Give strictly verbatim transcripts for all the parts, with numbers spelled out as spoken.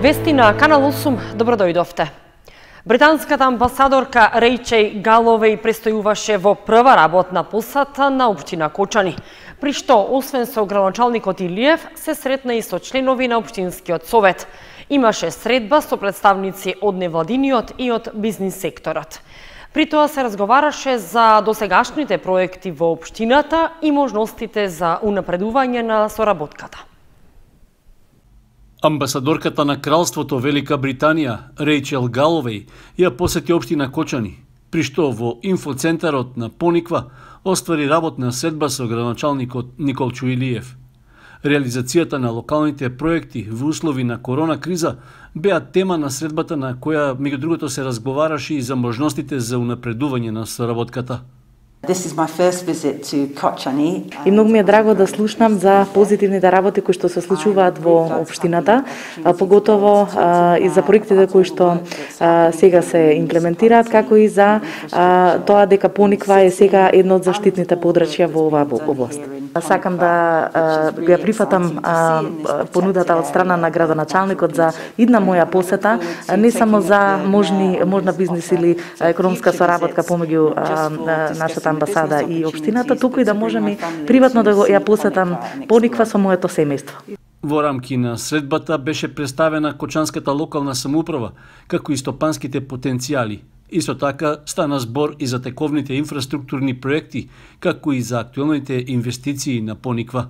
Вести на Канал осум, добро дојдовте. Британската амбасадорка Рејчел Галовеј престојуваше во прва работна посета на општина Кочани, при што, освен со градоначалникот Илиев, се сретна и со членови на општинскиот совет. Имаше средба со представници од невладиниот и од бизнис секторот. При тоа се разговараше за досегашните проекти во општината и можностите за унапредување на соработката. Амбасадорката на Кралството Велика Британија, Рејчел Галовеј, ја посети општина Кочани, при што во инфоцентарот на Пониква оствари работна средба со градоначалникот Николчо Илиев. Реализацијата на локалните проекти во услови на корона криза беа тема на средбата, на која меѓу другото се разговараше и за можностите за унапредување на соработката. И многу ми е драго да слушнам за позитивните работи кои што се случуваат во општината, поготово и за проектите кои што сега се имплементираат, како и за тоа дека Пониква е сега едно од заштитните подрачја во оваа област. Сакам да ја прифатам понудата од страна на градоначалникот за идна моја посета, не само за можни можна бизнис или економска соработка помеѓу нашата амбасада и општината, туку и да можеме приватно да ја посетам Пониква со моето семејство. Во рамки на средбата беше представена Кочанската локална самоуправа, како и стопанските потенцијали. Исто така стана збор и за тековните инфраструктурни проекти, како и за актуелните инвестиции на Пониква.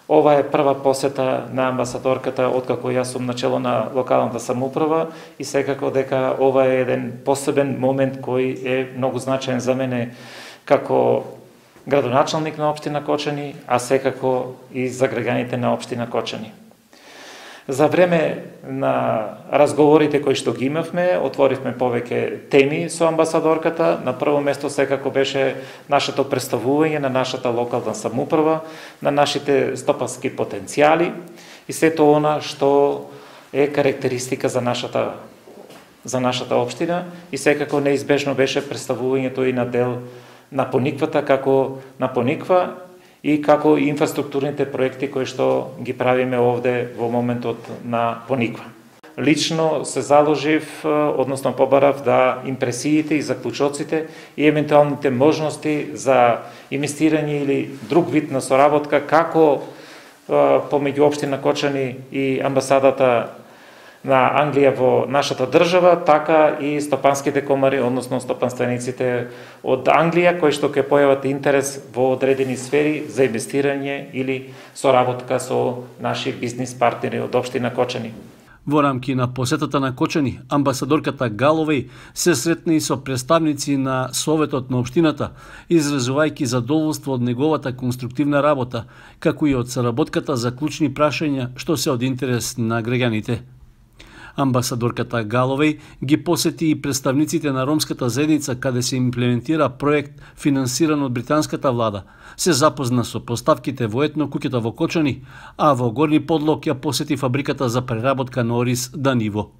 Ова е прва посета на амбасадорката откако јас сум начело на локалната самоуправа и секако дека ова е еден посебен момент кој е многу значаен за мене како градоначалник на општина Кочани, а секако и за граѓаните на општина Кочани. За време на разговорите кои што ги имавме, отворивме повеќе теми со амбасадорката. На прво место секако беше нашето представување на нашата локална самоуправа, на нашите стопански потенцијали и сето она што е карактеристика за нашата за нашата општина и секако неизбежно беше представувањето и на дел на Пониквата како на Пониква и како инфраструктурните проекти кои што ги правиме овде во моментот на Пониква. Лично се заложив, односно побарав да импресиите и заклучоците и евентуалните можности за инвестирање или друг вид на соработка како помеѓу општина Кочани и амбасадата на Англија во нашата држава, така и стопанските комари, односно стопанствениците од Англија, кои што ќе појават интерес во одредени сфери за инвестирање или соработка со наши бизнис партнери од општина Кочани. Во рамки на посетата на Кочани, амбасадорката Галовеј се сретна и со представници на Советот на општината, изразувајќи задоволство од неговата конструктивна работа, како и од соработката за клучни прашања што се од интерес на граѓаните. Амбасадорката Галовеј ги посети и представниците на ромската заедница каде се имплементира проект финансиран од британската влада. Се запозна со поставките во етно куќата во Кочани, а во Горни Подлог ја посети фабриката за преработка на ориз Даниво.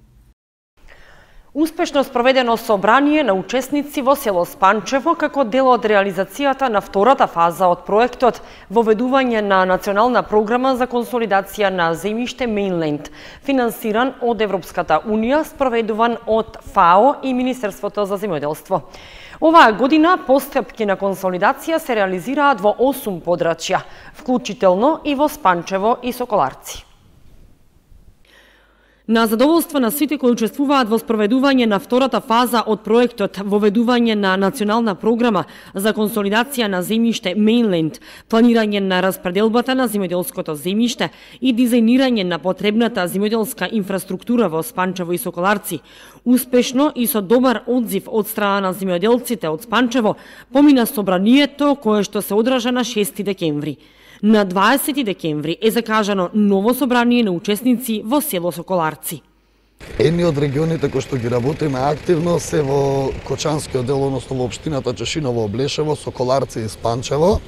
Успешно спроведено собрание на учесници во село Спанчево како дел од реализацијата на втората фаза од проектот воведување на национална програма за консолидација на земјиште Мејнленд, финансиран од Европската унија, спроведуван од ФАО и Министерството за земјоделство. Оваа година постапки на консолидација се реализираат во осум подрачја, вклучително и во Спанчево и Соколарци. На задоволство на сите кои учествуваат во спроведување на втората фаза од проектот воведување на национална програма за консолидација на земјиште Мејнленд, планирање на распределбата на земјоделското земјиште и дизајнирање на потребната земјоделска инфраструктура во Спанчево и Соколарци, успешно и со добар одзив од страна на земјоделците од Спанчево, помина собранието кое што се одржа на шести декември. На дваесети декември е закажано ново собрание на учесници во село Соколарци. Едни од регионите кои што ги работиме активно се во Кочанскиот дел, односно во општината Чешиново, Облешево, Соколарци и Спанчево,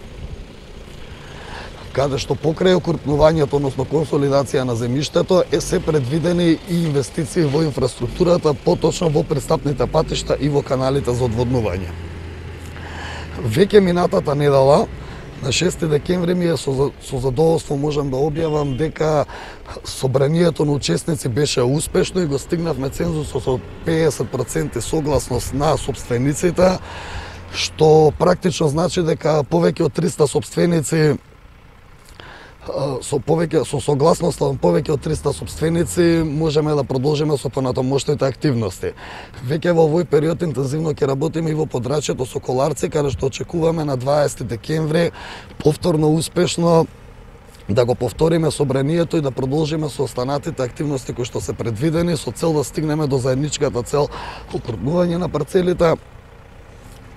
каде што покрај окрупнувањето, односно консолидација на земјиштето, е се предвидени и инвестиции во инфраструктурата, поточно во пристапните патишта и во каналите за одводнување. Веќе минатата недела На шести декември ми е со, со задоволство можам да објавам дека собранието на учесници беше успешно и го стигнавме цензусот со педесет проценти согласност на собствениците, што практично значи дека повеќе од триста собственици со повеќе со согласност на повеќе од триста собственици можеме да продолжиме со понатамошните активности. Веќе во овој период интензивно ќе работиме и во подрачјето со Коларци, каде што очекуваме на дваесети декември повторно успешно да го повториме собранието и да продолжиме со останатите активности кои што се предвидени со цел да стигнеме до заедничката цел окрупнување на парцелите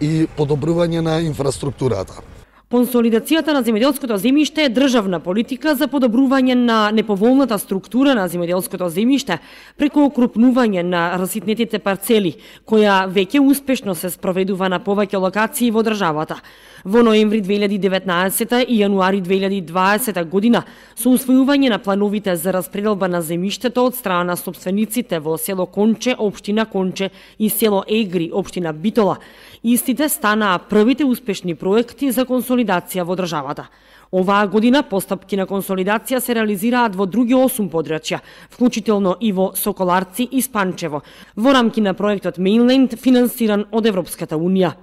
и подобрување на инфраструктурата. Консолидацијата на земјоделското земјиште е државна политика за подобрување на неповолната структура на земјоделското земјиште преку окрупнување на раситнетите парцели, која веќе успешно се спроведува на повеќе локации во државата. Во ноември две илјади и деветнаесета и јануари две илјади и дваесета година, со усвојување на плановите за распределба на земјиштето од страна на собствениците во село Конче, општина Конче и село Егри, општина Битола, истите станаа првите успешни проекти за консолидација во државата. Оваа година постапки на консолидација се реализираат во други осум подрачја, вклучително и во Соколарци и Спанчево, во рамки на проектот Mainland, финансиран од Европската Унија.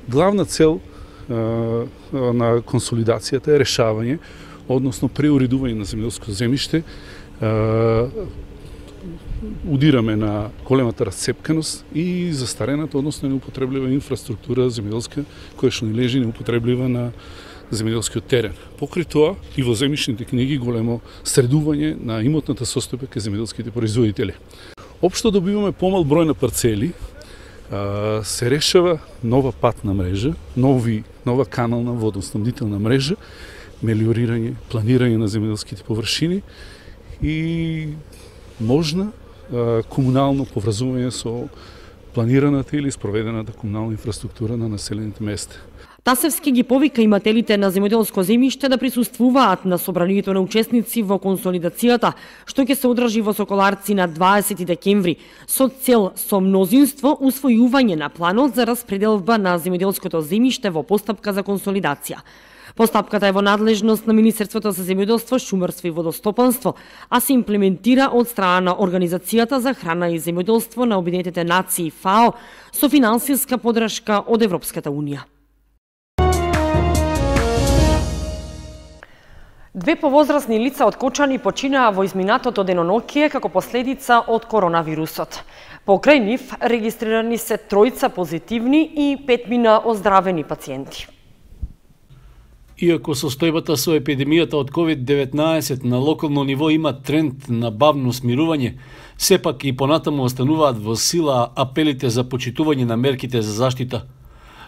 Главна цел на консолидацијата е решавање, односно преуредување на земјоделско земјиште. Удираме на големата расцепканост и застарената, односно неупотреблива инфраструктура земјоделска, која што ни лежи неупотреблива на земјоделскиот терен. Покрај тоа и во земјишните книги големо средување на имотната состојба кај земјоделските производители. Општо добиваме помал број на парцели, се решава нова патна мрежа, нови, нова канална водоснабдителна мрежа, мелиорирање, планирање на земјоделските површини и можна комунално поврзување со планираната или спроведената комунална инфраструктура на населените места. Тасевски ги повика имателите на земјоделско земјиште да присуствуваат на собранието на учесници во консолидацијата, што ќе се одржи во Соколарци на дваесети декември, со цел со мнозинство усвојување на планот за распределба на земјоделското земјиште во постапка за консолидација. Постапката е во надлежност на Министерството за земјоделство, шумарство и водостопанство, а се имплементира од страна на Организацијата за храна и земјоделство на Обединетите нации ФАО со финансиска подршка од Европската Унија. Две повозрасни лица од Кочани починаа во изминатото денонокие како последица од коронавирусот. Покрај нив регистрирани се тројца позитивни и петмина оздравени пациенти. Иако состојбата со епидемијата од ковид деветнаесет на локално ниво има тренд на бавно смирување, сепак и понатаму остануваат во сила апелите за почитување на мерките за заштита.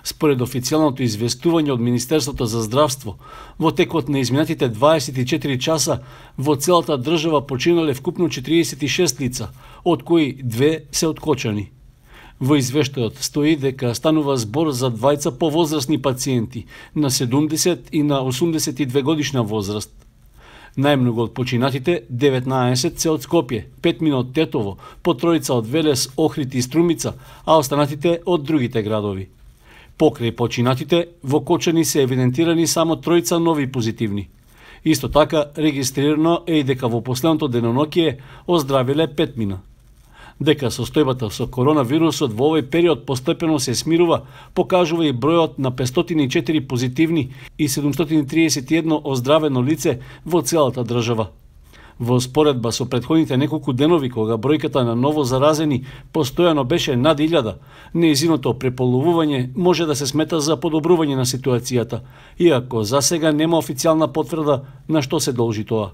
Според официјалното известување од Министерството за здравство, во текот на изминатите дваесет и четири часа во целата држава починале вкупно четириесет и шест лица, од кои две се од Кочани. Во извештајот стои дека станува збор за двајца повозрасни пациенти на седумдесет и на осумдесет и две годишна возраст. Најмногу од починатите, деветнаесет се од Скопје, петмина од Тетово, по тројца од Велес, Охрид и Струмица, а останатите од другите градови. Покрај починатите, во Кочани се евидентирани само тројца нови позитивни. Исто така, регистрирано е и дека во последното денонокие оздравиле петмина. Дека состојбата со коронавирусот во овој период постепено се смирува, покажува и бројот на петстотини и четири позитивни и седумстотини триесет и едно оздравено лице во целата држава. Во споредба со претходните неколку денови, кога бројката на ново заразени постојано беше над илјада, нејзиното преполовување може да се смета за подобрување на ситуацијата, иако за сега нема официјална потврда на што се должи тоа.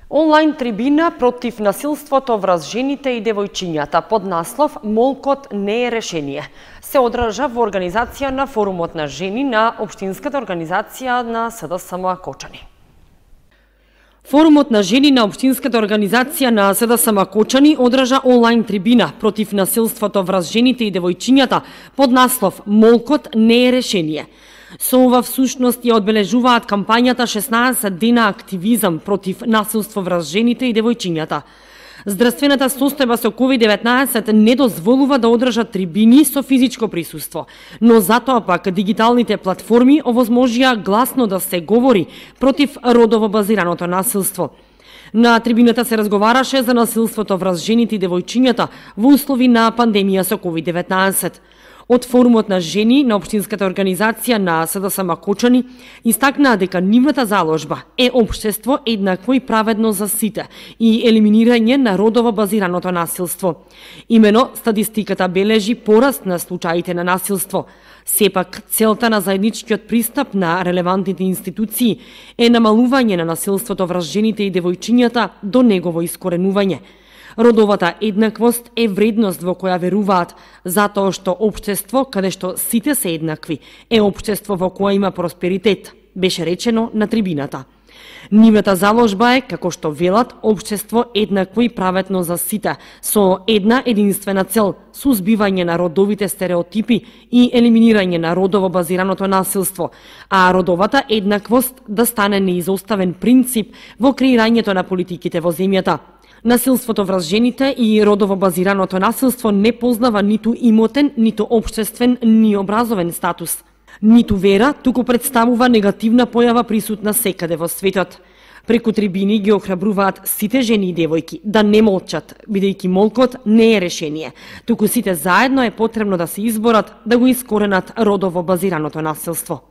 Онлайн трибина против насилството врз жените и девојчињата под наслов "Молкот не е решение" се одржа во организација на Форумот на жени на Општинската организација на СДСМ Кочани. Форумот на жени на Општинската организација на СДСМ Кочани одржа онлайн трибина против насилството врз жените и девојчињата под наслов "Молкот не е решение". Со ова всушност ја одбележуваат кампањата шеснаесет дена активизам против насилство врз жените и девојчињата. Здравствената состојба со ковид деветнаесет не дозволува да одржат трибини со физичко присуство, но затоа пак дигиталните платформи овозможија гласно да се говори против родово базираното насилство. На трибината се разговараше за насилството врз жените и девојчињата во услови на пандемија со ковид деветнаесет. Од форумот на жени на општинската организација на СДСМ Кочани истакнаа дека нивната заложба е општество еднакво и праведно за сите и елиминирање на родово базираното насилство. Имено статистиката бележи пораст на случаите на насилство. Сепак, целта на заедничкиот пристап на релевантните институции е намалување на насилството врз жените и девојчињата до негово искоренување. Родовата еднаквост е вредност во која веруваат, затоа што општество каде што сите се еднакви е општество во која има просперитет, беше речено на трибината. Нивната заложба е, како што велат, општество еднакво и праведно за сите, со една единствена цел – сузбивање на родовите стереотипи и елиминирање на родово базираното насилство, а родовата еднаквост да стане неизоставен принцип во креирањето на политиките во земјата. Насилството врз жените и родово базираното насилство не познава ниту имотен, ниту општествен, ни образовен статус. Ниту вера, туку представува негативна појава присутна секаде во светот. Преку трибини ги охрабруваат сите жени и девојки да не молчат, бидејќи молкот не е решение, туку сите заедно е потребно да се изборат да го искоренат родово базираното насилство.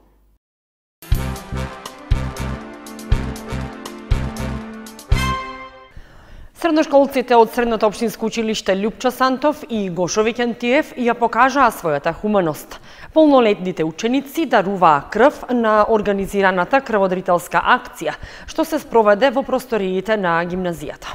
Средношколците од Средното општинско училиште Љупчо Сантов и Гошо Викентиев ја покажаа својата хуманост. Полнолетните ученици даруваа крв на организираната крводарителска акција, што се спроведе во просториите на гимназијата.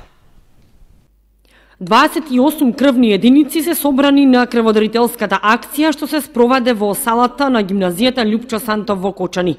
дваесет и осум крвни единици се собрани на крводарителската акција што се спроведе во салата на гимназијата Љупчо Сантов во Кочани.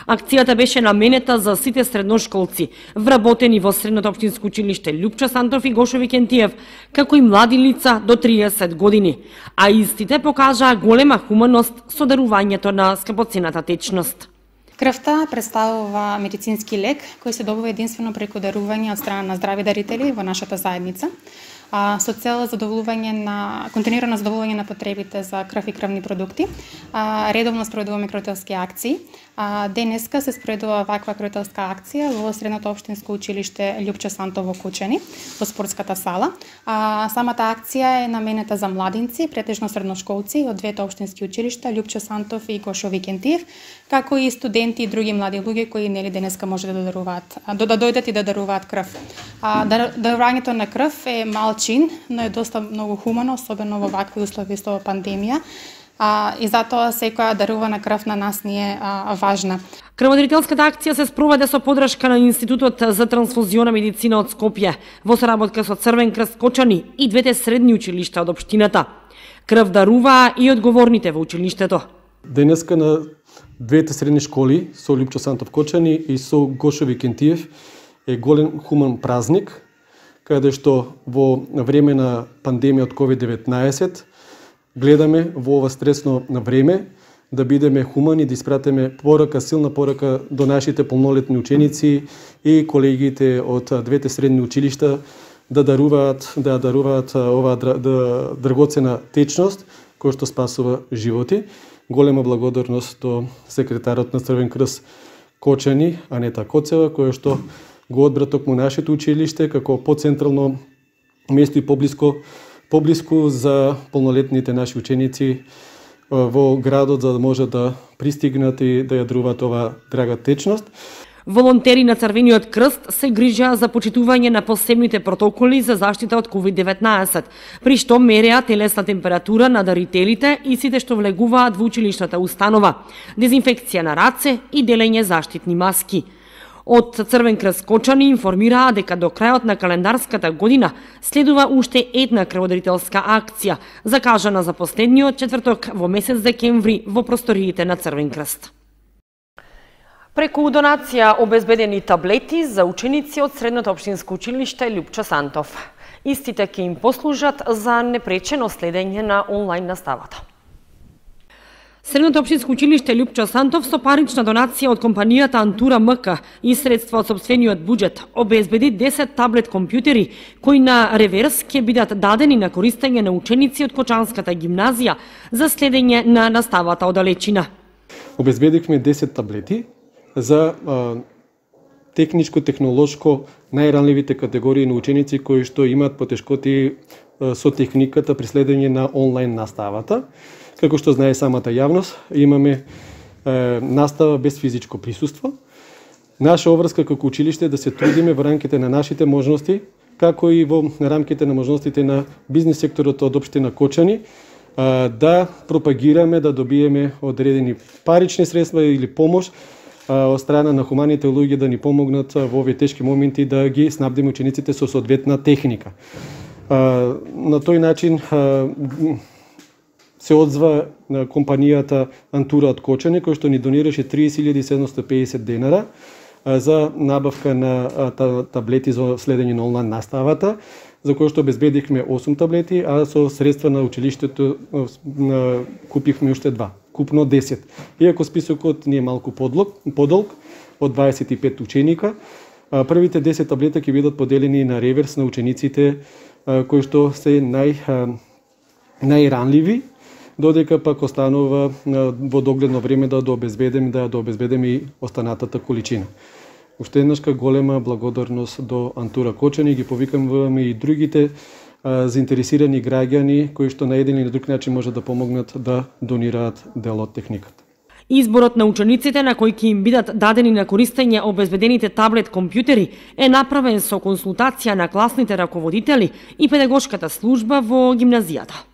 Акцијата беше наменета за сите средношколци, вработени во Средното општинско училиште Љупчо Сантов и Гошо Викентиев, како и млади лица до триесет години, а истите покажаа голема хуманост со дарувањето на скапоцената течност. Крвта представува медицински лек кој се добива единствено преку дарување од страна на здрави дарители во нашата заедница, а, со цел задоволување на континуирано задоволување на потребите за крв и крвни продукти. А, редовно спроведуваме крвителски акции. А, денеска се спроведува ваква крвителска акција во Средното општинско училиште Љупчо Сантов во Кочани, во спортската сала. А, самата акција е наменета за младинци, претежно средношколци од двете општински училишта Љупчо Сантов и Гошо Викентиев, како и студенти и други млади луѓе кои нели денеска може да даруваат, да, да дојдат и да даруваат крв. А, дарувањето на крв е мал чин, но е доста многу хумано, особено во вакви услови со пандемија. А, и затоа секоја дарувана крв на нас ни е а, важна. Крводарителската акција се спроведе со подршка на Институтот за трансфузиона медицина од Скопје, во соработка со Црвен крст Кочани и двете средни училишта од општината. Крв даруваа и одговорните во училиштето. Денеска на двете средни школи, со Љупчо Сантов Кочани и со Гошо Викентиев, е голем хуман празник, каде што во време на пандемија од ковид деветнаесет гледаме во ова стресно време да бидеме хумани, да испратиме порака, силна порака до нашите полнолетни ученици и колегите од двете средни училишта да даруваат, да даруваат оваа драгоцена течност која што спасува животи. Голема благодарност до секретарот на Црвен крст Кочани, Анета Коцева, која што го одбра токму нашето училиште како поцентрално место и поблиско поблиску за полнолетните наши ученици во градот, за да може да пристигнат и да ја даруваат оваа драга течност. Волонтери на Црвениот крст се грижаа за почитување на посебните протоколи за заштита од ковид деветнаесет, при што мереа телесна температура на дарителите и сите што влегуваат во училишната установа, дезинфекција на раце и делење заштитни маски. Од Црвен крст Кочани информираа дека до крајот на календарската година следува уште една крводарителска акција, закажана за последниот четврток во месец декември во просториите на Црвен крст. Преку донација обезбедени таблети за ученици од Средното општинско училиште Љупчо Сантов. Истите ќе им послужат за непречено следење на онлайн наставата. Средното општинско училиште Лјупчо Сантов со парична донација од компанијата Антура МК и средства од сопствениот буџет обезбеди десет таблет компјутери кои на реверс ќе бидат дадени на користење на ученици од Кочанската гимназија за следење на наставата од далечина. Обезбедивме десет таблети за а, техничко-технолошко најранливите категории на ученици кои што имаат потешкоти а, со техниката при следење на онлайн наставата. Како што знае самата јавност, имаме е, настава без физичко присуство. Наша обврска како училиште е да се трудиме во рамките на нашите можности, како и во рамките на можностите на бизнис секторот од општина Кочани, е, да пропагираме, да добиеме одредени парични средства или помош е, од страна на хуманите луѓе да ни помогнат во овие тешки моменти да ги снабдиме учениците со соодветна техника. Е, на тој начин е, се одзва на компанијата Антура од Кочани, кој што ни донираше триесет илјади седумстотини и педесет денара за набавка на таблети за следење на онлайн наставата, за кој што обезбедихме осум таблети, а со средства на училиштето купивме уште два, купно десет. Иако списокот ни е малку подолг, од дваесет и пет ученика, првите десет таблета ќе бидат поделени на реверс на учениците кои што се нај најранливи, додека пак останува во догледно време да дообезбедеме да дообезбедеме и останатата количина. Уште еднашка голема благодарност до Антура Кочани, ги повикаме и другите а, заинтересирани граѓани кои што на еден или друг начин може да помогнат да донираат дел од техниката. Изборот на учениците на кои ќе им бидат дадени на користење обезбедените таблет компјутери е направен со консултација на класните раководители и педагошката служба во гимназијата.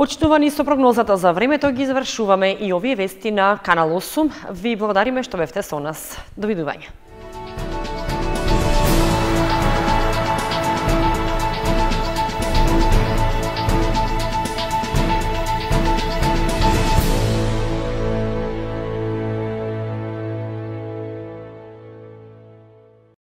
Почитувани, со прогнозата за времето ги завршуваме и овие вести на Канал осум. Ви благодариме што бевте со нас. Довидување.